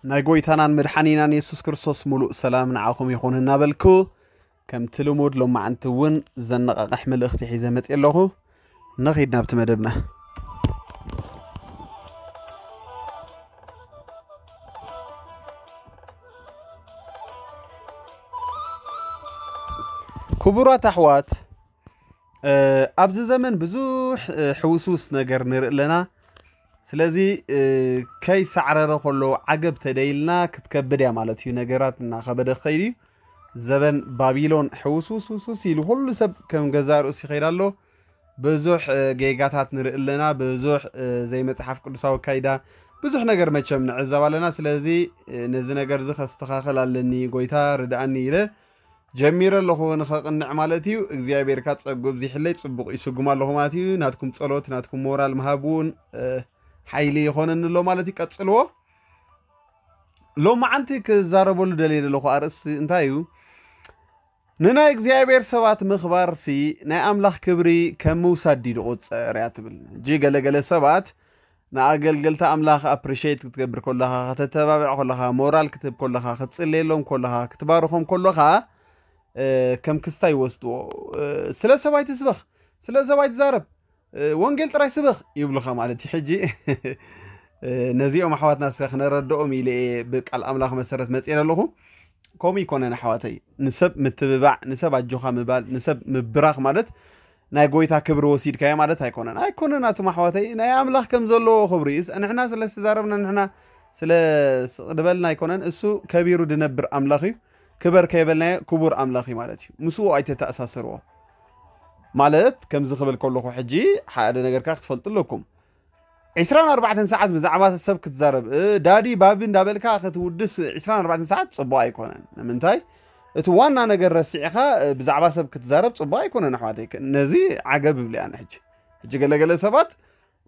ናይ ጎይታናን መድሓኒናን የሱስ ክርስቶስ ምሉእ ሰላም ንዓኹም ይኹን እናበልኩ፣ ከምቲ ልሙድ ሎማዓንቲ እውን ዘነቓቕሕ መልእኽቲ ሒዘ መፅእ ኣለኹ። ንኺድ ናብቲ መደብና። ክቡራት ኣሕዋት፣ ኣብዚ ዘመን ብዙሕ ሕውስውስ ነገር ንርኢ ኣለና። ስለዚ ከይሳዕረረ ከሎ ዓገብ ተደይልና ክትከብድ እያ ማለት እዩ። ነገራት እናኸበደ ክኸይድ እዩ። ዘበን ባቢሎን ሕውስውስውስውስ ኢሉ ኩሉ ሰብ ከም ገዛ ርእሱ ይኸይድ ኣሎ። ብዙሕ ጌጋታት ንርኢ ኣለና። ብዙሕ ዘይመፅሓፍ ቅዱሳዊ ካይዳ፣ ብዙሕ ነገር መቸም ንዕዘብ ኣለና። ስለዚ ነዚ ነገር እዚ ከስተኻኸል ኣለኒ፣ ጎይታ ርድኣኒ ኢለ ጀሚረ ኣለኹ ንኸቕንዕ ማለት እዩ። እግዚኣብሔር ከኣ ጸጉ ኣብዚሕለይ ጽቡቕ ይስጉም ኣለኹ ማለት እዩ። ናትኩም ጸሎት፣ ናትኩም ሞራል ምሃብ እውን ሓይሊ ይኾነኒ ኣሎ ማለት እዩ። ቀጽልዎ። ሎማዓንቲ ክዛረበሉ ደልየ ዘለኹ ኣርእስቲ እንታይ እዩ? ንናይ እግዚኣብሔር ሰባት ምኽባርሲ ናይ ኣምላኽ ክብሪ ከም ምውሳድ ድዩ ዝቑጸር እያ ትብል። ሕጂ ገለገለ ሰባት ንኣገልገልቲ ኣምላኽ ኣፕሪሼት ክትገብር ከለኻ፣ ከተተባብዕ ከለኻ፣ ሞራል ክትህብ ከለኻ፣ ክትጽልየሎም ከለኻ፣ ክትባርኾም ከለኻ ከም ክስታይ ይወስድዎ። ስለ ሰብ ኣይትስበኽ፣ ስለ ሰብ ኣይትዛረብ፣ ወንጌል ጥራይ ስበኽ ይብሉኻ ማለት እዩ። ሕጂ ነዚኦም ኣሕዋትና እስከ ክነረድኦም ኢለ እየ ብቃል ኣምላኽ መሰረት መፅኤ ኣለኹ። ከምኡ ይኮነን ኣሕዋተይ። ንሰብ ምትብባዕ፣ ንሰብ ኣጆኻ ምባል፣ ንሰብ ምብራኽ ማለት ናይ ጎይታ ክብሪ ወሲድካዮ ማለት ኣይኮነን። ኣይኮነን ኣቱም ኣሕዋተይ፣ ናይ ኣምላኽ ከም ዘለዎ ክብሪ እዩ። ንሕና ስለ ዝተዛረብና፣ ንሕና ስለ ስቕ ድበልና ኣይኮነን። እሱ ከቢሩ ድነብር ኣምላኽ እዩ። ክበር ከይበልናዮ ክቡር ኣምላኽ እዩ ማለት እዩ። ምስኡ ኣይተተኣሳሰርዎ። ማለት ከምዚ ክብል ከለኹ ሕጂ ሓደ ነገርካ ክትፈልጡ ኣለኩም። ዕስራን ኣርባዕተን ሰዓት ብዛዕባ ሰብ ክትዛረብ፣ እ፣ ዳዲ ባቢ እንዳበልካ ክትውድስ ዕስራን ኣርባዕተን ሰዓት ጽቡቕ ኣይኮነን። ንምንታይ? እቲ ዋና ነገር ረሲዕኻ፣ እ፣ ብዛዕባ ሰብ ክትዛረብ ጽቡቕ ኣይኮነን ኣሕዋተይ። ነዚ ዓገብ እብል ኣነ ሕጂ። ሕጂ ገለገለ ሰባት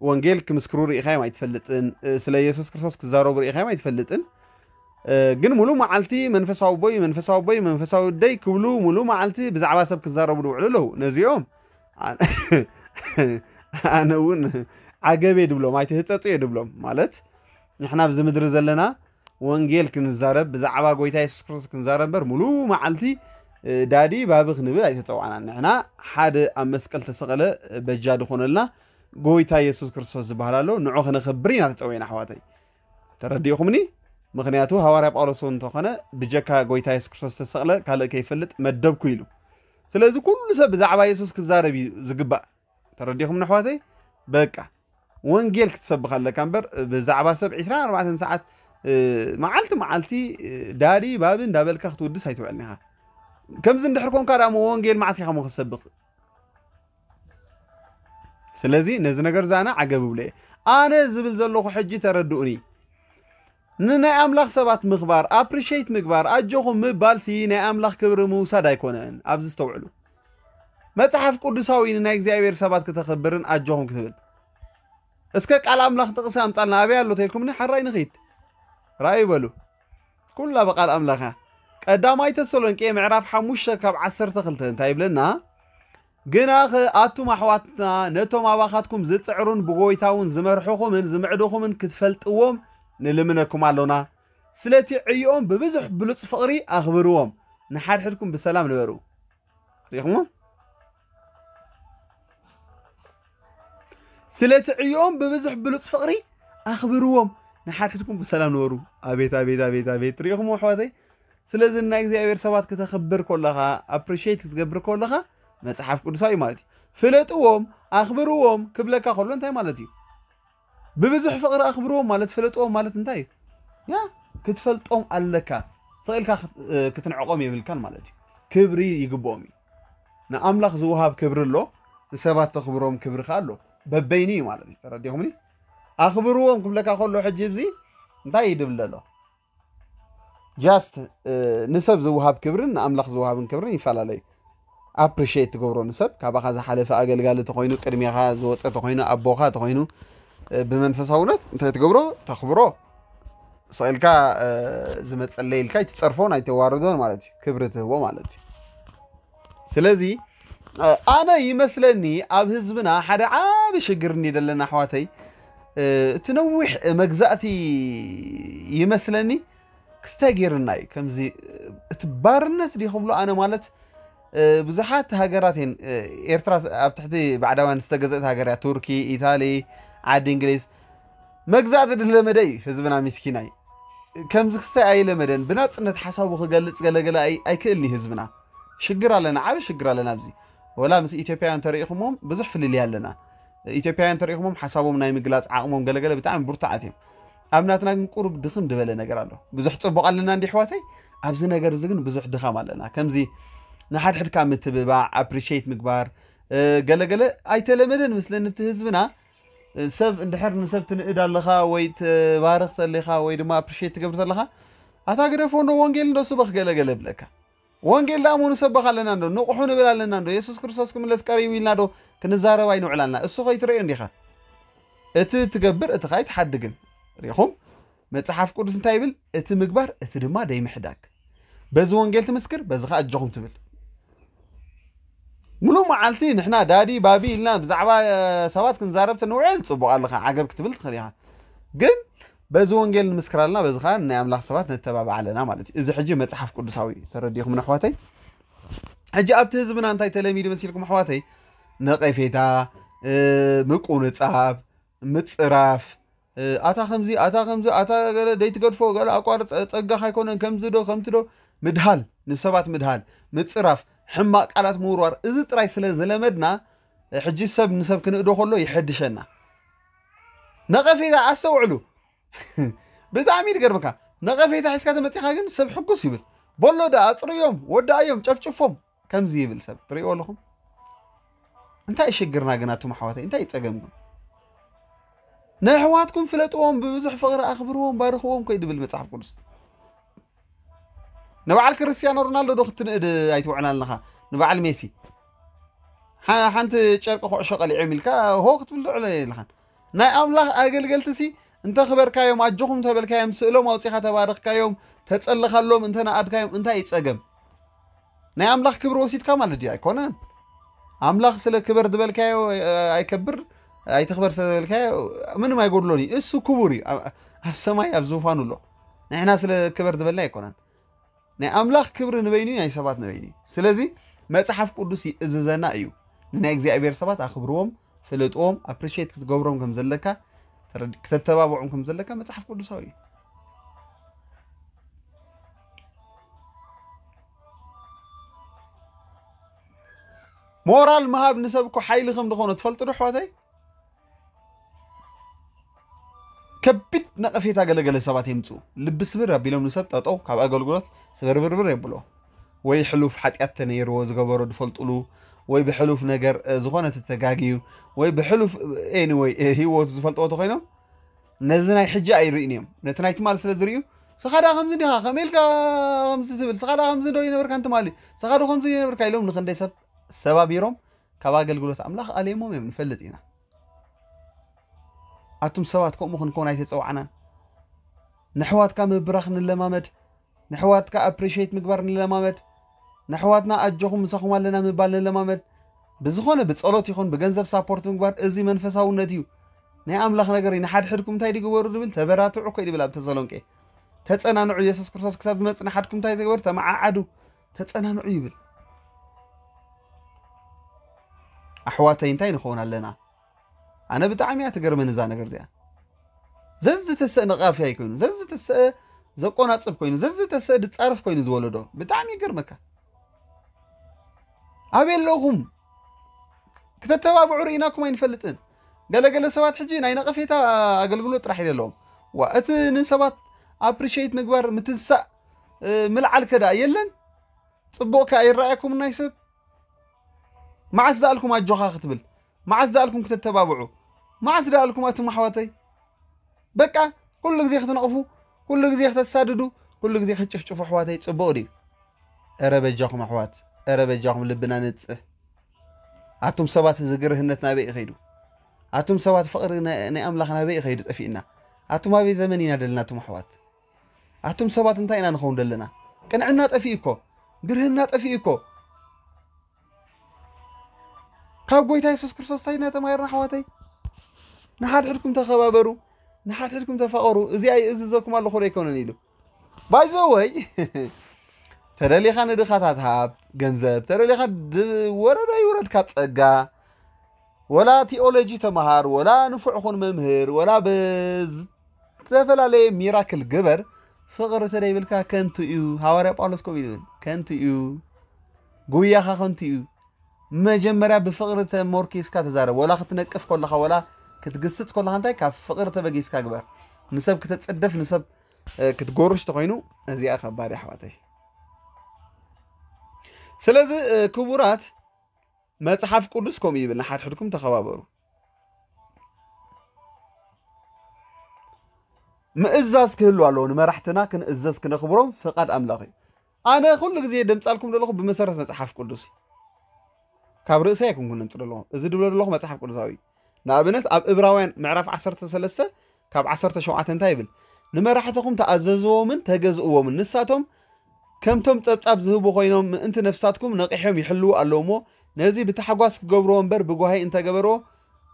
ወንጌል ክምስክሩ ርኢኻዮም ኣይትፈልጥን፣ እ፣ ስለ የሱስ ክርስቶስ ክዛረቡ ርኢኻዮም ኣይትፈልጥን። እ፣ ግን ሙሉ መዓልቲ መንፈሳዊ ቦይ፣ መንፈሳዊ ቦይ፣ መንፈሳዊ ደይ ክብሉ ሙሉ መዓልቲ ብዛዕባ ሰብ ክዛረቡ ዝውዕሉ ኣለዉ። ነዚኦም ኣነ ኣነ እውን ዓገብ እየ ድብሎም፣ ኣይትህጸጹ እየ ድብሎም። ማለት ንሕና ኣብዚ ምድሪ ዘለና ወንጌል ክንዛረብ፣ ብዛዕባ ጎይታ የሱስ ክርስቶስ ክንዛረብ እምበር ሙሉ መዓልቲ፣ እ፣ ዳዲ ባቢ ክንብል ኣይተጸዋዕናን። ንሕና ሓደ ኣብ መስቀል ተሰቐለ በጃ ዝኾነልና ጎይታ የሱስ ክርስቶስ ዝበሃል ኣሎ፣ ንዑ ክነኽብር ኢና ተጸዊዕና ኣሕዋተይ። ተረዲእኹምኒ? ምኽንያቱ ሃዋርያ ጳውሎስ እውን እንተኾነ ብጀካ ጎይታ የሱስ ክርስቶስ ዝተሰቕለ ካልእ ከይፈልጥ መደብኩ ኢሉ። ስለዚ ኩሉ ሰብ ብዛዕባ የሱስ ክዛረብ እዩ ዝግባእ። ተረዲእኹምኒ ኣሕዋተይ? በቃ ወንጌል ክትሰብኽ ኣለካ እምበር ብዛዕባ ሰብ ዕስራን ኣርባዕተን ሰዓት፣ እ፣ መዓልቲ መዓልቲ፣ እ፣ ዳዲ ባቢ እንዳበልካ ክትውድስ ኣይትውዕልን ኢኻ። ከምዚ እንድሕር ኮንካ ደኣ እሞ ወንጌል መዓስ ኢኻ እሞ ክትሰብኽ? ስለዚ ነዚ ነገር እዚ ኣነ ዓገብ እብሎ እየ። ኣነ ዝብል ዘለኹ ሕጂ ተረድኡኒ። ንናይ ኣምላኽ ሰባት ምኽባር፣ ኣፕሪሼት ምግባር፣ ኣጆኹም ምባልሲ ናይ ኣምላኽ ክብሪ ምውሳድ ኣይኮነን። ኣብዚ ዝተውዕሉ። መጽሓፍ ቅዱሳዊ ንናይ እግዚኣብሔር ሰባት ክተኽብርን ኣጆኹም ክትብል። እስከ ቃል ኣምላኽ ጥቕሲ ኣምጻልና፣ ኣበይ ኣሎ ተልኩምኒ፣ ሓራይ ንኺድ። ራእዩ በሉ። ኩላ ብቃል ኣምላኽ እያ። ቀዳማይ ተሰሎንቄ ምዕራፍ ሓሙሽተ ካብ ዓሰርተ ክልተ እንታይ ይብለና? ግናኸ ኣቱም ኣሕዋትና፣ ነቶም ኣባኻትኩም ዝጽዕሩን ብጎይታ እውን ዝመርሑኹምን ዝምዕዱኹምን ክትፈልጥዎም ንልምነኩም ኣሎና። ስለቲ ዕዮኦም ብብዙሕ ብሉጽ ፍቕሪ ኣኽብርዎም። ንሓድሕድኩም ብሰላም ንበሩ። ርኢኹሞ? ስለቲ ዕዮኦም ብብዙሕ ብሉጽ ፍቕሪ ኣኽብርዎም። ንሓድሕድኩም ብሰላም ንበሩ። ኣቤት፣ ኣቤት፣ ኣቤት፣ ኣቤት። ርኢኹሞ ኣሕዋተይ? ስለዚ ናይ እግዚኣብሔር ሰባት ክተኽብር ከለኻ፣ ኣፕሪሼት ክትገብር ከለኻ፣ መጽሓፍ ቅዱሳዊ ማለት እዩ። ፍለጥዎም፣ ኣኽብርዎም ክብለካ ከሎ እንታይ ማለት እዩ? ብብዙሕ ፍቕሪ ኣኽብርዎም ማለት ፍለጥዎም ማለት እንታይ እዩ? ያ፣ ክትፈልጦም ኣለካ። ስቕ ኢልካ ክት-፣ እ፣ ክትንዕቖም የብልካን ማለት እዩ። ክብሪ ይግብኦም እዩ። ንኣምላኽ ዝወሃብ ክብሪ ኣሎ፣ ንሰባት ተኽብሮም ክብሪ ከኣ ኣሎ። በበይኑ እዩ ማለት እዩ። ተረዲኹምኒ? ኣኽብርዎም ክብለካ ከሎ ሕጂ እዚ እንታይ ይድብል ዘሎ? ጃስት፣ እ፣ ንሰብ ዝወሃብ ክብርን ንኣምላኽ ዝወሃብን ክብርን ይፈላለዩ። ኣፕሪሼት ትገብሮ ንሰብ፣ ካባኻ ዝሓለፈ ኣገልጋሊ ተኾይኑ፣ ቅድሜኻ ዝወፀ ተኾይኑ፣ ኣቦኻ ተኾይኑ፣ እ፣ ብመንፈሳውነት እንታይ ትገብሮ? ተኽብሮ። ስቕ ኢልካ፣ እ፣ ዝመፀለይ ኢልካ ኣይትፀርፎን ኣይተዋርዶን ማለት እዩ። ክብሪ ትህቦ ማለት እዩ። ስለዚ፣ እ፣ ኣነ ይመስለኒ ኣብ ህዝብና ሓደ ዓቢ ሽግር እንዲ ዘለና ኣሕዋተይ፣ እቲ ነዊሕ መግዛእቲ ይመስለኒ ክስታይ ገይርና እዩ። ከምዚ እቲ ባርነት ድዩ ክብሎ ኣነ ማለት ብዙሓት ሃገራት እየን። ኤርትራ ኣብ ትሕቲ ባዕዳውያን ዝተገዘእት ሃገር እያ። ቱርኪ፣ ኢታሊ፣ ዓዲ እንግሊዝ። መግዛእቲ ድለመደ እዩ ህዝብና ሚስኪናይ። ከምዚ ክስታይ ኣይለመደን። ብናጽነት ሓሳቡ ክገልጽ ገለገለ ኣይክእልኒ ህዝብና። ሽግር ኣለና፣ ዓቢ ሽግር ኣለና ኣብዚ። ወላ ምስ ኢትዮጵያውያን ተሪኢኹሞም ብዙሕ ፍልልይ ኣለና። ኢትዮጵያውያን ተሪኢኹሞም ሓሳቦም ናይ ምግላጽ ዓቕሞም ገለገለ ብጣዕሚ ብርቱዓት እዮም። ኣብ ናትና ግን ቁሩብ ድኽም ዝበለ ነገር ኣሎ። ብዙሕ ጽቡቕ ኣለና እንዲ ኣሕዋተይ፣ ኣብዚ ነገር እዚ ግን ብዙሕ ድኻም ኣለና። ከምዚ ንሓድሕድካ ምትብባዕ፣ ኣፕሪሼት ምግባር፣ ገለገለ ኣይተለመደን ምስለኒ እቲ ህዝብና። ሰብ እንድሕር ንሰብ ትንእድ ኣለኻ ወይ ትባርኽ ተለኻ ወይ ድማ ኣፕሪሼት ትገብር ተለኻ፣ ኣታ ግደፎ እንዶ ወንጌል እንዶ ስበኽ ገለገለ ብለካ። ወንጌል ደኣ እሞ ንሰብኽ ኣለና እንዶ፣ ንቑሑ ንብል ኣለና እንዶ፣ የሱስ ክርስቶስ ክምለስ ቀሪቡ ኢልና ዶ ክንዛረብ ኣይንውዕል ኣለና? እሱ ከይትርእዮ እንዲኻ። እቲ ትገብር እቲ ኸኣ ኣይትሓድግን። ርኢኹም? መጽሓፍ ቅዱስ እንታይ ይብል? እቲ ምግባር፣ እቲ ድማ ደይምሕዳግ። በዚ ወንጌል ትምስክር፣ በዚ ኸኣ ኣጆኹም ትብል። ሙሉእ መዓልቲ ንሕና ዳዲ ባቢ ኢልና ብዛዕባ ሰባት ክንዛረብ ትንውዕል ጽቡቕ ኣለኻ፣ ዓገብ ክትብል ትኽእል ኢኻ። ግን በዚ ወንጌል ንምስክር ኣለና፣ በዚ ኸኣ ናይ ኣምላኽ ሰባት ነተባብዕ ኣለና ማለት እዩ። እዚ ሕጂ መጽሓፍ ቅዱሳዊ እዩ። ተረዲእኹም ኣሕዋተይ? ሕጂ ኣብቲ ህዝብና እንታይ ተለሚዱ መሲልኩም ኣሕዋተይ? ነቐፌታ፣ ምቁንጻብ፣ ምጽራፍ፣ ኣታ ከምዚ፣ ኣታ ከምዚ፣ ኣታ ገለ ደይትገድፎ፣ ገለ ኣቋርጽ፣ ጸጋኻ ኣይኮነን፣ ከምዚ ዶ፣ ከምቲ ዶ፣ ምድሃል፣ ንሰባት ምድሃል፣ ምጽራፍ፣ ሕማቕ ቃላት ምውርዋር፣ እዚ ጥራይ ስለ ዝለመድና፣ ሕጂ ሰብ ንሰብ ክንእዶ ከሎ ይሐድሸና። ነቐፌታ ኣስተውዕሉ። ብጣዕሚ እዩ ዝገርመካ። ነቐፌታ ሒዝካ ተመጺኻ ግን ሰብ ሕጉስ ይብል። በሎ ደኣ ኣጽርዮም፣ ወዳእዮም፣ ጨፍጭፎም ከምዚ ይብል ሰብ ትርእይዎ ኣለኹም። እንታይ እዩ ሽግርና ግን ኣቱም ኣሕዋተይ? እንታይ እዩ ጸገምኩም? ንኣሕዋትኩም ፍለጥዎም፣ ብብዙሕ ፍቕሪ ኣኽብርዎም፣ ባርኽዎም ኮይ ድብል መጽሓፍ ቅዱስ። ንበዓል ክርስቲያኖ ሮናልዶ ዶ ክትንእድ ኣይትውዕል ኣለኻ? ንበዓል ሜሲ ሓንቲ ጨርቂ ኩዕሾ ቀሊዖም ኢልካ ሆ ክትብል ዶ ዕለ የለኻን። ናይ ኣምላኽ ኣገልገልቲ ሲ እንተኽበርካዮም ኣጆኹም ተበልካዮም ስእሎም ኣውጺኻ ተባረኽካዮም ተጸለኻሎም እንተነኣድካዮም እንታይ እዩ ጸገም? ናይ ኣምላኽ ክብሪ ወሲድካ ማለት ድዩ? ኣይኮነን። ኣምላኽ ስለ ክበር ዝበልካዮ ኣይከብር ኣይትኽበር ስለ ዝበልካዮ ምንም ኣይጎድሎን እዩ። እሱ ክቡር እዩ። ኣብ ሰማይ ኣብ ዙፋኑ ኣሎ። ንሕና ስለ ክበር ዝበልና ኣይኮነን። ናይ ኣምላኽ ክብሪ ንበይኑ ናይ ሰባት ንበይኑ እዩ። ስለዚ መጽሓፍ ቅዱስ ይእዝዘና እዩ። ንናይ እግዚኣብሔር ሰባት ኣኽብርዎም፣ ፍለጥዎም፣ ኣፕሪሼት ክትገብሮም ከም ዘለካ፣ ክትተባብዖም ከም ዘለካ መጽሓፍ ቅዱሳዊ እዩ። ሞራል ምሃብ ንሰብ እኮ ሓይሊ ከም ዝኾነ ትፈልጡ ዶ ኣሕዋተይ? ከቢድ ነቐፌታ ገለገለ ሰባት የምፅኡ። ልቢ ስብር ኣቢሎም ንሰብ ጠጠው ካብ ኣገልግሎት ስብርብርብር የብሎ። ወይ ሕሉፍ ሓጢኣት ተነይርዎ ዝገበሮ ዝፈልጡሉ፣ ወይ ብሕሉፍ ነገር ዝኾነ ተተጋግዩ፣ ወይ ብሕሉፍ ኤኒወይ ህይወቱ ዝፈልጥዎ ተኮይኖም ነዚ ናይ ሕጂ ኣይርእን እዮም። ነቲ ናይ ትማል ስለ ዝርእዩ ስኻ ዳ ከምዚ ዲኻ ከመይ ኢልካ ከምዚ ትብል ስኻ ዳ ከምዚ ዶ ይነበርካ እንትማሊ ስኻ ዶ ከምዚ ይነበርካ ኢሎም ንክንደይ ሰብ ሰባቢሮም ካብ ኣገልግሎት ኣምላኽ ኣለይሞም እዮም ንፈልጥ ኢና። ኣቱም ሰባት ከምኡ ክንከውን ኣይተጸዋዕናን። ንሕዋትካ ምብራኽ ንለማመድ፣ ንሕዋትካ ኣፕሪሼት ምግባር ንለማመድ፣ ንሕዋትና ኣጆኹም ምሳኹም ኣለና ምባል ንለማመድ። ብዝኾነ ብጸሎት ይኹን ብገንዘብ ሳፖርት ምግባር እዚ መንፈሳውነት እዩ። ናይ ኣምላኽ ነገር እዩ። ንሓድሕድኩም እንታይ ድግበሩ ድብል ተበራትዑ እኮ እዩ ድብል ኣብ ተሰሎንቄ። ተጸናንዑ፣ የሱስ ክርስቶስ ክሳብ ዝመጽእ ንሓድኩም እንታይ ተግበሩ ተመዓዓዱ፣ ተጸናንዑ ይብል። ኣሕዋተይ እንታይ ንኸውን ኣለና? ኣነ ብጣዕሚ እያ ትገርመኒ እዛ ነገር እዚኣ። ዘዝተሰእ ነቓፊ ኣይኮይኑ፣ ዘዝተሰእ ዘቆናጽብ ኮይኑ፣ ዘዝተሰእ ድጻርፍ ኮይኑ ዝወለዶ ብጣዕሚ ይገርመካ። ኣበይ ኣለኹም? ክተተባብዑ ርኢናኩም ኣይንፈልጥን። ገለገለ ሰባት ሕጂ ናይ ነቐፌታ ኣገልግሎት ጥራሕ የለዎም። ዋ እቲ ንሰባት ኣፕሪሼት ምግባር ምትንሳእ ምልዓል ከዳ የለን። ጽቡቕ ከኣ ይረኣየኩም ናይ ሰብ መዓስ ደኣልኩም ኣጆኻ ክትብል? መዓስ ደኣልኩም ክተተባብዑ? መዓስ ደኣልኩም ኣቱም ኣሕዋተይ? በቃ ኩሉ ግዜ ክትነቕፉ፣ ኩሉ ግዜ ክተሳድዱ፣ ኩሉ ግዜ ክትጭፍጭፉ ኣሕዋተይ ጽቡቕ ድዩ? እረ በጃኹም ኣሕዋት፣ እረ በጃኹም ልብና ንጽህ። ኣቱም ሰባት እዚ ግርህነት ናበይ እዩ ከይዱ? ኣቱም ሰባት ፍቕሪ ናይ ኣምላኽ ናበይ እዩ ከይዱ ጠፊእና? ኣቱም ኣበይ ዘመን ኢና ደለና ኣቱም ኣሕዋት? ኣቱም ሰባት እንታይ ኢና ንኸውን ደለና? ቅንዕና ጠፊኡ እኮ፣ ግርህና ጠፊኡ እኮ። ካብ ጎይታ የሱስ ክርስቶስ እንታይ ኢና ተማሂርና ኣሕዋተይ? ንሓድሕድኩም ተኸባበሩ፣ ንሓድሕድኩም ተፋቐሩ፣ እዚ ኣይእዝዘኩም ኣለኹ ዶ ኣይኮነን ኢሉ። ባይዘወይ ተደሊኻ ንድኻታት ሃብ ገንዘብ፣ ተደሊኻ ወረዳ ይውረድካ ጸጋ፣ ወላ ቲኦሎጂ ተመሃር፣ ወላ ንፉዕ ኹን መምህር፣ ወላ ብዝተፈላለየ ሚራክል ግበር፣ ፍቕሪ ተደይብልካ ከንቱ እዩ። ሃዋርያ ጳውሎስ ከምኡ ይብል፣ ከንቱ እዩ፣ ጉያኻ ከንቱ እዩ። መጀመርያ ብፍቕሪ ተሞርኪስካ ተዛረብ። ወላ ክትነቅፍ ከለኻ፣ ወላ ክትግስጽ ከለኻ፣ እንታይ ካብ ፍቕሪ ተበጊስካ ግበር። ንሰብ ክተጽድፍ፣ ንሰብ ክትጎርሽ ተኾይኑ፣ እዚኣ ከባድ ኣሕዋተይ። ስለዚ ክቡራት፣ መጽሓፍ ቅዱስ ከምኡ ይብል፣ ንሓድሕድኩም ተኸባበሩ። ምእዛዝ ክህሉ ኣለዎ። ንመራሕትና ክንእዘዝ፣ ክነኽብሮም ፍቓድ ኣምላኽ እዩ። ኣነ ኩሉ ግዜ ደምጻልኩም ዘለኹ ብመሰረት መጽሓፍ ቅዱስ እዩ። ካብ ርእሰይ ኣይኮንኩን ደምጽ ዘለኹ። እዚ ድብሎ ዘለኹ መጽሓፍ ቅዱሳዊ እዩ። ንኣብነት ኣብ እብራውያን ምዕራፍ ዓሰርተ ሰለስተ ካብ ዓሰርተ ሸውዓተ እንታይ ይብል? ንመራሕትኹም ተኣዘዝዎምን ተገዝእዎምን፣ ንሳቶም ከምቶም ጸብጻብ ዝህቡ ኮይኖም ምእንቲ ነፍሳትኩም ነቒሖም ይሕልዉ ኣለዉ እሞ፣ ነዚ ብታሕጓስ ክገብርዎ እምበር ብጓሂ እንተገበርዎ፣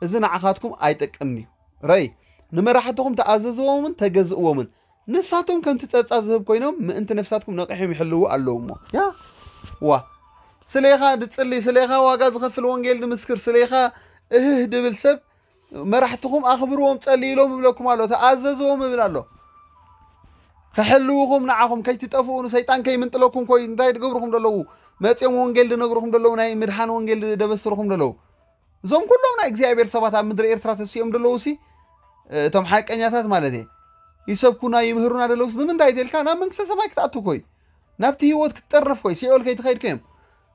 እዚ ንዓኻትኩም ኣይጠቅምን እዩ። ረይ ንመራሕትኹም ተኣዘዝዎምን ተገዝእዎምን፣ ንሳቶም ከምቲ ጸብጻብ ዝህብ ኮይኖም ምእንቲ ነፍሳትኩም ነቒሖም ይሕልዉ ኣለዉ እሞ። ያ ዋ ስለኻ ድጽሊ፣ ስለኻ ዋጋ ዝኸፍል ወንጌል ድምስክር፣ ስለኻ እህህ ድብል ሰብ መራሕትኹም ኣኽብርዎም፣ ጸልይሎም እብለኩም ኣሎ፣ ተኣዘዝዎም እብል ኣሎ። ከሕልውኹም ንዓኹም ከይትጠፍኡ፣ ንሰይጣን ከይምንጥለኩም ኮይ እንታይ ድገብርኹም ደለዉ? መጽኦም ወንጌል ድነግርኹም ደለዉ፣ ናይ ምድሓን ወንጌል ደበስርኹም ደለዉ። እዞም ኩሎም ናይ እግዚኣብሔር ሰባት ኣብ ምድሪ ኤርትራ ተሲኦም ደለዉ ሲ፣ እቶም ሓቀኛታት ማለት እየ፣ ይሰብኩና ይምህሩና ደለዉ ሲ፣ ንምንታይ ተልካ ናብ መንግስተ ሰማይ ክትኣቱ ኮይ፣ ናብቲ ህይወት ክትጠርፍ ኮይ፣ ሲኦል ከይትኸይድ ኮዮም።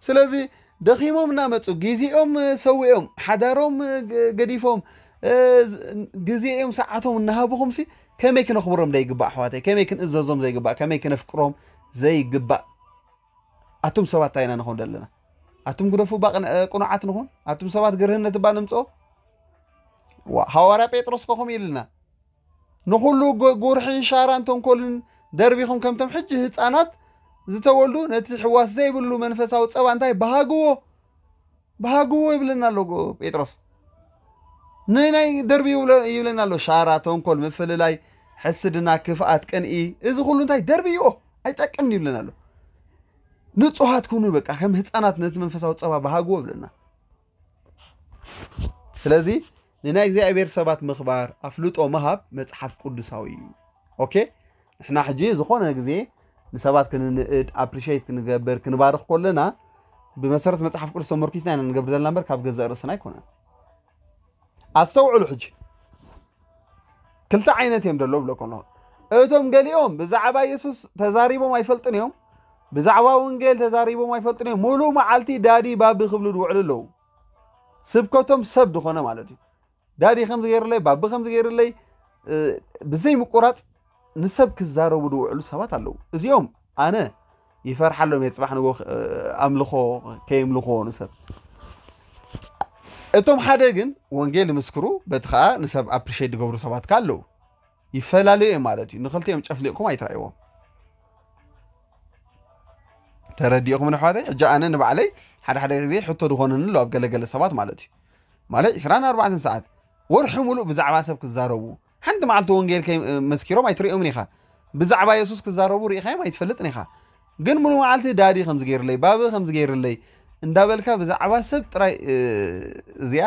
ስለዚ ደኺሞም እናመጹ ግዜኦም ሰዊኦም ሓዳሮም ገ- ገዲፎም እ፣ ዝ- ግዜኦም ሰዓቶም እናሃብኹም ሲ ከመይ ክነኽብሮም ዘይግባእ ኣሕዋተይ፣ ከመይ ክንእዘዞም ዘይግባእ፣ ከመይ ክነፍቅሮም ዘይግባእ። ኣቱም ሰባት እንታይ ኢና ንኾን ዘለና? ኣቱም ግደፉ እባ ቅን- እ፣ ቅኑዓት ንኹን። ኣቱም ሰባት ግርህነት እባ ንምጽኦ። ዋ፣ ሃዋርያ ጴጥሮስ ከ ከምኡ ኢልና ንኹሉ ጎ- ጉርሕን ሻራን ተንኮልን ደርቢኹም ከምቶም ሕጂ ህፃናት ዝተወልዱ ነቲ ሕዋስ ዘይብሉ መንፈሳዊ ፀባ እንታይ በሃግዎ በሃግዎ ይብለና ኣሎ ጎ- ጴጥሮስ። ንናይ ደርቢ ይብለ- ይብለና ኣሎ። ሻራ፣ ተንኮል፣ ምፍልላይ፣ ሕስድና፣ ክፍኣት፣ ቅንኢ፣ እዚ ኩሉ እንታይ ደርብይዎ ኣይጠቅምን ይብለና ኣሎ። ንጹሃት ኩኑ በቃ ከም ህፃናት ነቲ መንፈሳዊ ፀባ በሃግዎ ይብለና። ስለዚ ንናይ እግዚኣብሔር ሰባት ምኽባር ኣፍልጦ ምሃብ መጽሓፍ ቅዱሳዊ እዩ። ኦኬ፣ ንሕና ሕጂ ዝኾነ ግዜ ንሰባት ክንንእድ፣ ኣፕሪሼት ክንገብር፣ ክንባርኽ ከለና ብመሰረት መጽሓፍ ቅዱስ ተመርኪስና ኢና ንገብር ዘለና እምበር ካብ ገዛእ ርእስና ኣይኮነን። ኣስተውዕሉ ሕጂ ክልተ ዓይነት እዮም ዘለዉ ብለኩም ኣለኹ። እቶም ገሊኦም ብዛዕባ የሱስ ተዛሪቦም ኣይፈልጥን እዮም፣ ብዛዕባ ወንጌል ተዛሪቦም ኣይፈልጥን እዮም። ሙሉእ መዓልቲ ዳዲ ባቢ ክብሉ ዝውዕሉ ኣለዉ። ስብከቶም ሰብ ዝኾነ ማለት እዩ። ዳዲ ከምዚ ገይርለይ፣ ባቢ ከምዚ ገይርለይ፣ እ፣ ብዘይ ምቁራጽ ንሰብ ክዛረቡ ዝውዕሉ ሰባት ኣለዉ። እዚኦም ኣነ ይፈርሓሎም እየ፣ ጽባሕ ንጎ ኣምልኾ ከየምልኽዎ ንሰብ። እቶም ሓደ ግን ወንጌል ይምስክሩ፣ በቲ ኸኣ ንሰብ ኣፕሪሼት ዝገብሩ ሰባት ከኣ ኣለዉ። ይፈላለዩ እዮም ማለት እዩ። ንኽልቲኦም ጨፍሊቕኩም ኣይትረእይዎም። ተረዲእኹም ንኣሕዋተይ? ሕጂ ኣነ ንባዕለይ ሓደ ሓደ ግዜ ሕቶ ዝኾነኒ ኣሎ ኣብ ገለገለ ሰባት ማለት እዩ። ማለት ዕስራን ኣርባዕተን ሰዓት ወርሒ ሙሉእ ብዛዕባ ሰብ ክዛረቡ፣ ሓንቲ መዓልቲ ወንጌል ከይ- መስኪሮም ኣይትርእዮምን ኢኻ። ብዛዕባ የሱስ ክዛረቡ ርኢኻዮም ኣይትፈልጥን ኢኻ። ግን ሙሉ መዓልቲ ዳዲ ከምዚ ገይርለይ፣ ባቢ ከምዚ ገይርለይ እንዳበልካ ብዛዕባ ሰብ ጥራይ፣ እ፣ እዚኣ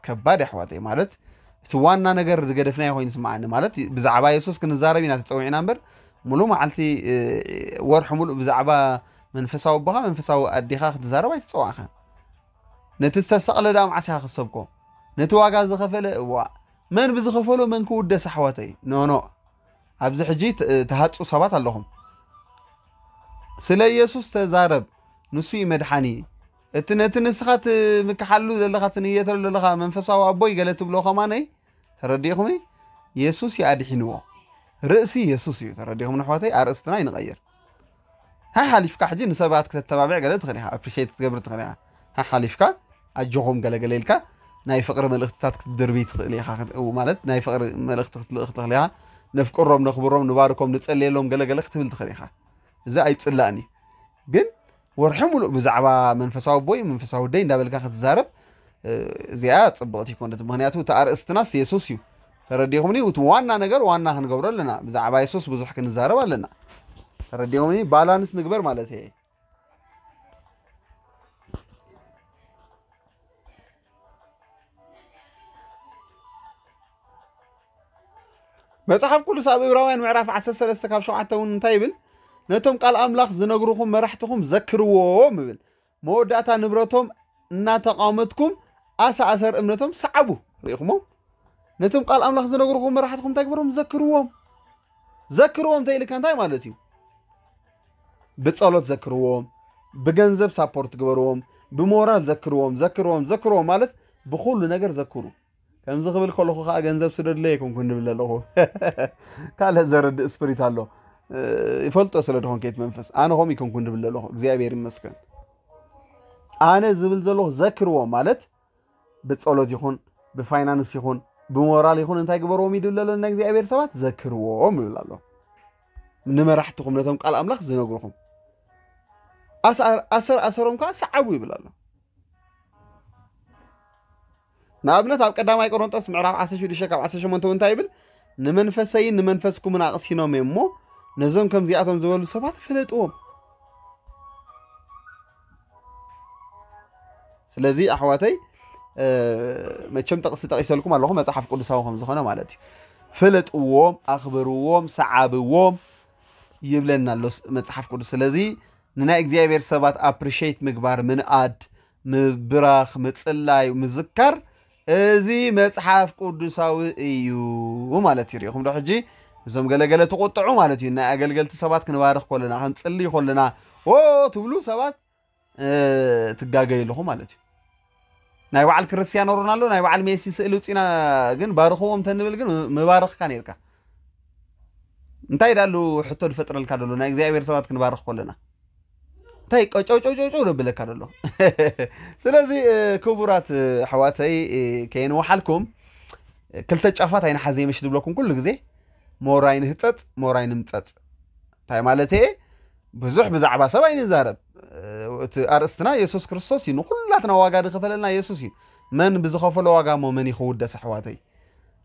ከባድ ኣሕዋተይ። ማለት እቲ ዋና ነገር ዝገደፍናዮ ኮይኑ ይስምዓኒ። ማለት ብዛዕባ የሱስ ክንዛረብ ኢና ተጸዊዕና እምበር ሙሉ መዓልቲ፣ እ፣ ወርሒ ሙሉእ ብዛዕባ መንፈሳዊ ኣቦኻ መንፈሳዊ ኣዴኻ ክትዛረብ ኣይተጸዋዕካን። ነቲ ዝተሰቕለ ደኣ መዓስ ኢኻ ክትሰብኮ? ነቲ ዋጋ ዝኸፈለ እዋ መን ብዝኸፈሎ መን ክውደስ ኣሕዋተይ? ኖኖ። ኣብዚ ሕጂ ት- ትሃጹ ሰባት ኣለኹም። ስለ ኢየሱስ ተዛረብ፣ ንሱ እዩ መድሓኒ። እቲ ነቲ ንስኻ ትምክሓሉ ዘለኻ ትንየተሉ ዘለኻ መንፈሳዊ ኣቦይ ገለ ትብሎ ከማነይ ተረዲእኹምኒ? የሱስ እዩ ኣድሒንዎ። ርእሲ የሱስ እዩ። ተረዲእኹም ኣሕዋተይ? ኣርእስትና ይንቐይር። ሓሓሊፍካ ሕጂ ንሰባት ክተተባብዕ ገለ ትኽእል ኢኻ፣ ኣፕሪሼት ክትገብር ትኽእል ኢኻ። ሓሓሊፍካ ኣጆኹም ገለ ገለ ኢልካ ናይ ፍቕሪ መልእኽትታት ክትድርቢ ትኽእል ኢኻ። ክት- ማለት ናይ ፍቕሪ መልእኽቲ ክትልእኽ ትኽእል ኢኻ። ነፍቅሮም፣ ነኽብሮም፣ ንባርኮም፣ ንጸልየሎም ገለ ገለ ክትብል ትኽእል ኢኻ። እዚ ኣይጽላእን እዩ። ግን ወርሒ ሙሉእ ብዛዕባ መንፈሳዊ ኣቦይ መንፈሳዊ ኣደይ እንዳበልካ ክትዛረብ፣ እ፣ እዚኣ ጽብቕቲ ኣይኮነትን። ምኽንያቱ እቲ ኣርእስትናስ የሱስ እዩ። ተረዲኹምኒ? እቲ ዋና ነገር ዋና ክንገብሮ ኣለና። ብዛዕባ የሱስ ብዙሕ ክንዛረብ ኣለና። ተረዲኹምኒ? ባላንስ ንግበር ማለት እየ። መጽሓፍ ቅዱስ ኣብ ዕብራውያን ምዕራፍ ዓሰርተ ሰለስተ ካብ ሸውዓተ እውን እንታይ ይብል? ነቶም ቃል ኣምላኽ ዝነግሩኹም መራሕትኹም ዘክርዎም ይብል። መወዳእታ ንብረቶም እናተቓወመትኩም ኣሳ ኣሰር እምነቶም ሰዓቡ። ርኢኹሞም? ነቶም ቃል ኣምላኽ ዝነግሩኹም መራሕትኹም እንታይ ግበሮም? ዘክርዎም። ዘክርዎም እንተኢልካ እንታይ ማለት እዩ? ብጸሎት ዘክርዎም፣ ብገንዘብ ሳፖርት ግበርዎም፣ ብሞራል ዘክርዎም። ዘክርዎም ዘክርዎም ማለት ብኹሉ ነገር ዘክሩ። ከምዚ ክብል ከለኹ ከዓ ገንዘብ ስደድለይ ኣይኮንኩን ድብል ኣለኹ። ካልእ ዘረድእ ስፕሪት ኣሎ። ይፈልጦ ስለ ድኾን ከየት መንፈስ ኣነ ኸም ይኮንኩን ድብል ኣለኹ። እግዚኣብሔር ይመስገን። ኣነ ዝብል ዘለኹ ዘክርዎም ማለት ብጸሎት ይኹን ብፋይናንስ ይኹን ብሞራል ይኹን እንታይ ግበርዎም ይድብል ኣሎ? ናይ እግዚኣብሔር ሰባት ዘክርዎም ይብል ኣሎ። ንመራሕትኹም ነቶም ቃል ኣምላኽ ዝነግርኹም ኣሰር ኣሰሮም ከዓ ሰዓቡ ይብል ኣሎ። ንኣብነት ኣብ ቀዳማይ ቆሮንጦስ ምዕራፍ ዓሰርተ ሽዱሽተ ካብ ዓሰርተ ሸሞንተ እንታይ ይብል? ንመንፈሰይን ንመንፈስኩምን ኣቕሲኖም እዮም እሞ ነዞም ከምዚኣቶም ዝበሉ ሰባት ፍለጥዎም። ስለዚ ኣሕዋተይ መቸም ጠቕሲ ጠቒሰልኩም ኣለኹ መፅሓፍ ቅዱሳዊ ከም ዝኾነ ማለት እዩ። ፍለጥዎም፣ ኣኽብርዎም፣ ሰዓብዎም ይብለና ኣሎ መፅሓፍ ቅዱስ። ስለዚ ንናይ እግዚኣብሔር ሰባት ኣፕሪሼት ምግባር፣ ምንኣድ፣ ምብራኽ፣ ምፅላይ፣ ምዝካር እዚ መፅሓፍ ቅዱሳዊ እዩ ማለት እዩ። ሪኢኹም ዶ ሕጂ? እዞም ገለገለ ትቁጥዑ ማለት እዩ። ናይ ኣገልገልቲ ሰባት ክንባርኽ ከለና ክንፅልይ ከለና ኦ ትብሉ ሰባት ትጋገዩ ኣለኹ ማለት እዩ። ናይ በዓል ክርስቲያኖ ሮናልዶ ናይ በዓል ሜሲ ስእሊ ውፅና ግን ባርኽዎም ተንብል ግን ምባረኽካ ነርካ። እንታይ ዳሉ ሕቶ ዝፈጥረልካ ዘሎ ናይ እግዚኣብሔር ሰባት ክንባርኽ ከለና እንታይ ቀጨውጨውጨውጨው ደብለካ ዘሎ። ስለዚ ክቡራት ኣሕዋተይ ከየንወሓልኩም ክልተ ጫፋት ኣይንሓዘ ምሽ ዝብለኩም ኩሉ ግዜ ሞራይ ንህፀፅ ሞራይ ንምፀፅ እንታይ ማለት እየ? ብዙሕ ብዛዕባ ሰብ ኣይንዛረብ። እቲ ኣርእስትና የሱስ ክርስቶስ እዩ። ንኩላትና ዋጋ ዝኸፈለልና የሱስ እዩ። መን ብዝኸፈሎ ዋጋ እሞ መን ይኽውደስ ኣሕዋተይ?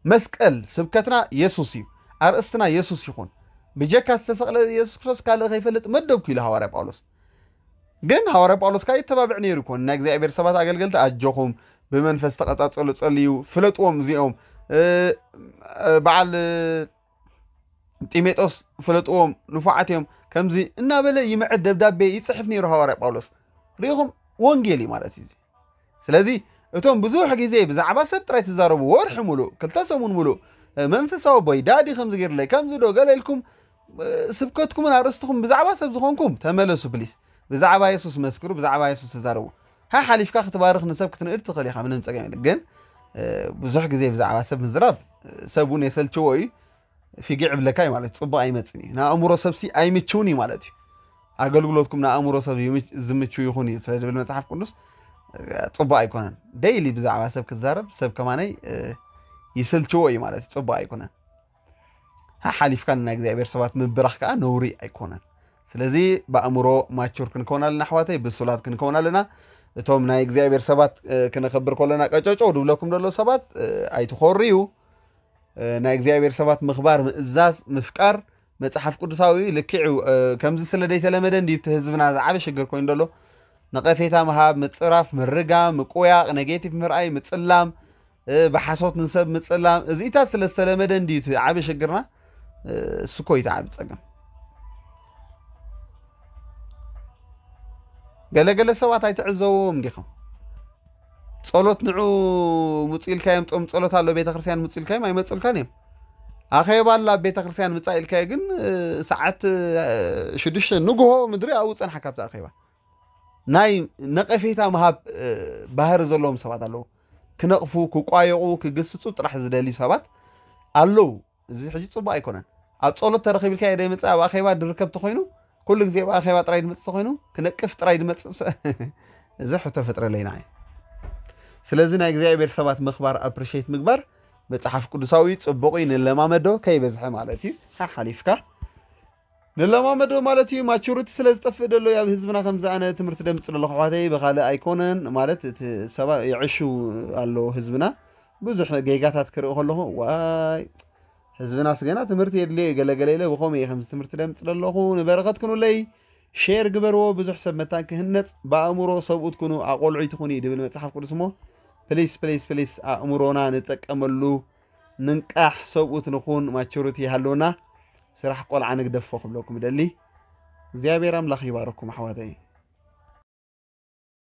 መስቀል ስብከትና የሱስ እዩ። ኣርእስትና የሱስ ይኹን። ብጀካ ዝተሰቕለ የሱስ ክርስቶስ ካልእ ከይፈልጥ መደብኩ ኢሉ ሃዋርያ ጳውሎስ። ግን ሃዋርያ ጳውሎስ ከዓ ይተባብዕ ነይሩ ይኮን ናይ እግዚኣብሔር ሰባት ኣገልገልቲ ኣጆኹም ብመንፈስ ተቐጻጸሉ ጸልዩ ፍለጥዎም እዚኦም በዓል ጢሜጦስ ፍለጥዎም ንፉዓት እዮም ከምዚ እናበለ ይምዕድ ደብዳቤ ይፅሕፍ ነይሩ ሃዋርያ ጳውሎስ። ሪኢኹም ወንጌል እዩ ማለት እዩ። ስለዚ እቶም ብዙሕ ግዜ ብዛዕባ ሰብ ጥራይ ትዛረቡ ወርሒ ሙሉእ ክልተ ሰሙን ሙሉእ መንፈሳዊ ቦይ ዳዲ ከምዚ ገይርለይ ከምዚ ዶ ገለ ኢልኩም ስብከትኩምን ኣርእስትኹም ብዛዕባ ሰብ ዝኾንኩም ተመለሱ ፕሊስ። ብዛዕባ የሱስ መስክሩ፣ ብዛዕባ የሱስ ተዛረቡ። ሓሓሊፍካ ክትባርኽ ንሰብ ክትንእድ ትኽእል ኢኻ፣ ምንም ጸገም የለን። ግን ብዙሕ ግዜ ብዛዕባ ሰብ ምዝራብ ሰብ እውን የሰልችዎ እዩ። ፊጊዕ ይብለካ እዩ ማለት እዩ። ጽቡቕ ኣይመጽን እዩ። ንኣእምሮ ሰብሲ ኣይምችውን እዩ ማለት እዩ። ኣገልግሎትኩም ንኣእምሮ ሰብ ዝምችው ይኹን እዩ ስለ ዝብል መጽሓፍ ቅዱስ ጽቡቕ ኣይኮነን። ደይሊ ብዛዕባ ሰብ ክዛረብ ሰብ ከማነይ ይስልችዎ እዩ ማለት እዩ። ጽቡቕ ኣይኮነን። ሓሓሊፍካ ንናይ እግዚኣብሔር ሰባት ምብራኽ ከዓ ነውሪ ኣይኮነን። ስለዚ ብኣእምሮ ማቹር ክንከውን ኣለና ኣሕዋተይ፣ ብሱላት ክንከውን ኣለና። እቶም ናይ እግዚኣብሔር ሰባት ክነኸብር ከለና ቀጨጨው ድብለኩም ዘሎ ሰባት ኣይትኾርዩ። ናይ እግዚኣብሔር ሰባት ምኽባር፣ ምእዛዝ፣ ምፍቃር መጽሓፍ ቅዱሳዊ እዩ፣ ልክዕ እዩ። ከምዚ ስለ ዘይተለመደ እንድዩ እቲ ህዝብና ዝዓበ ሽግር ኮይኑ ዘሎ። ነቐፌታ ምሃብ፣ ምጽራፍ፣ ምርጋም፣ ምቁያቕ፣ ኔጌቲቭ ምርኣይ፣ ምጽላም፣ ብሓሶት ንሰብ ምጽላም፣ እዚኢታት ስለ ዝተለመደ እንድዩ እቲ ዓቢ ሽግርና። እሱ እኮ እዩ እቲ ዓቢ ጸገም። ገለገለ ሰባት ኣይትዕዘብዎም ዲኹም? ጸሎት ንዑ ምጹ ኢልካዮም፣ ጾም ጸሎት ኣሎ ቤተክርስትያን ምጹ ኢልካዮም ኣይመጹልካን እዮም። ኣኼባ ኣላ ኣብ ቤተክርስትያን ምጻእ ኢልካዮ ግን ሰዓት ሽዱሽተ ንግሆ ምድሪ ኣብኡ ጸንሓካ ኣብቲ ኣኼባ። ናይ ነቐፌታ ምሃብ ባህሪ ዘለዎም ሰባት ኣለዉ። ክነቕፉ፣ ክቋየቑ፣ ክግስጹ ጥራሕ ዝደልዩ ሰባት ኣለዉ። እዚ ሕጂ ጽቡቕ ኣይኮነን። ኣብ ጸሎት ተረኺብ ኢልካዮ ደይመጽእ ኣብ ኣኼባ ድርከብ ተኾይኑ ኩሉ ግዜ ኣብ ኣኼባ ጥራይ ድመጽእ ተኾይኑ ክነቅፍ ጥራይ ድመጽእ እዚ ሕቶ ፈጥረለይ ንዓይ። ስለዚ ናይ እግዚኣብሔር ሰባት ምኽባር ኣፕሪሼት ምግባር መጽሓፍ ቅዱሳዊ ጽቡቕ እዩ። ንለማመዶ ከይበዝሐ ማለት እዩ። ሓሓሊፍካ ንለማመዶ ማለት እዩ። ማቹሪቲ ስለ ዝጠፍእ ደሎ ኣብ ህዝብና ከምዚ ኣነ ትምህርቲ ደምጽ ደለኹ ኣሕዋተይ ብኻልእ ኣይኮነን ማለት እቲ ሰባ ይዕሹ ኣሎ ህዝብና ብዙሕ ጌጋታት ክርኢ ከለኹ ዋይ ህዝብናስ ገና ትምህርቲ የድልዮ እዩ ገለገለ ኢለ ብኸምኡ እየ ከምዚ ትምህርቲ ደምፅ ዘለኹ። ንበረኸት ኩኑለይ ሼር ግበርዎ። ብዙሕ ሰብ መታን ክህነፅ ብኣእምሮ ሰብኡት ኩኑ ኣቆልዑ ይትኹን እዩ ድብል መፅሓፍ ቅዱስ እሞ ፕሊስ ፕሊስ ፕሊስ ኣእምሮና ንጠቀመሉ። ንንቃሕ ሰብኡት ንኹን ማቹሪቲ ይሃልውና። ስራሕ ቆልዓ ንግደፎ ክብለኩም ደሊ እግዚኣብሔር ኣምላኽ ይባረኩም ኣሕዋተይ።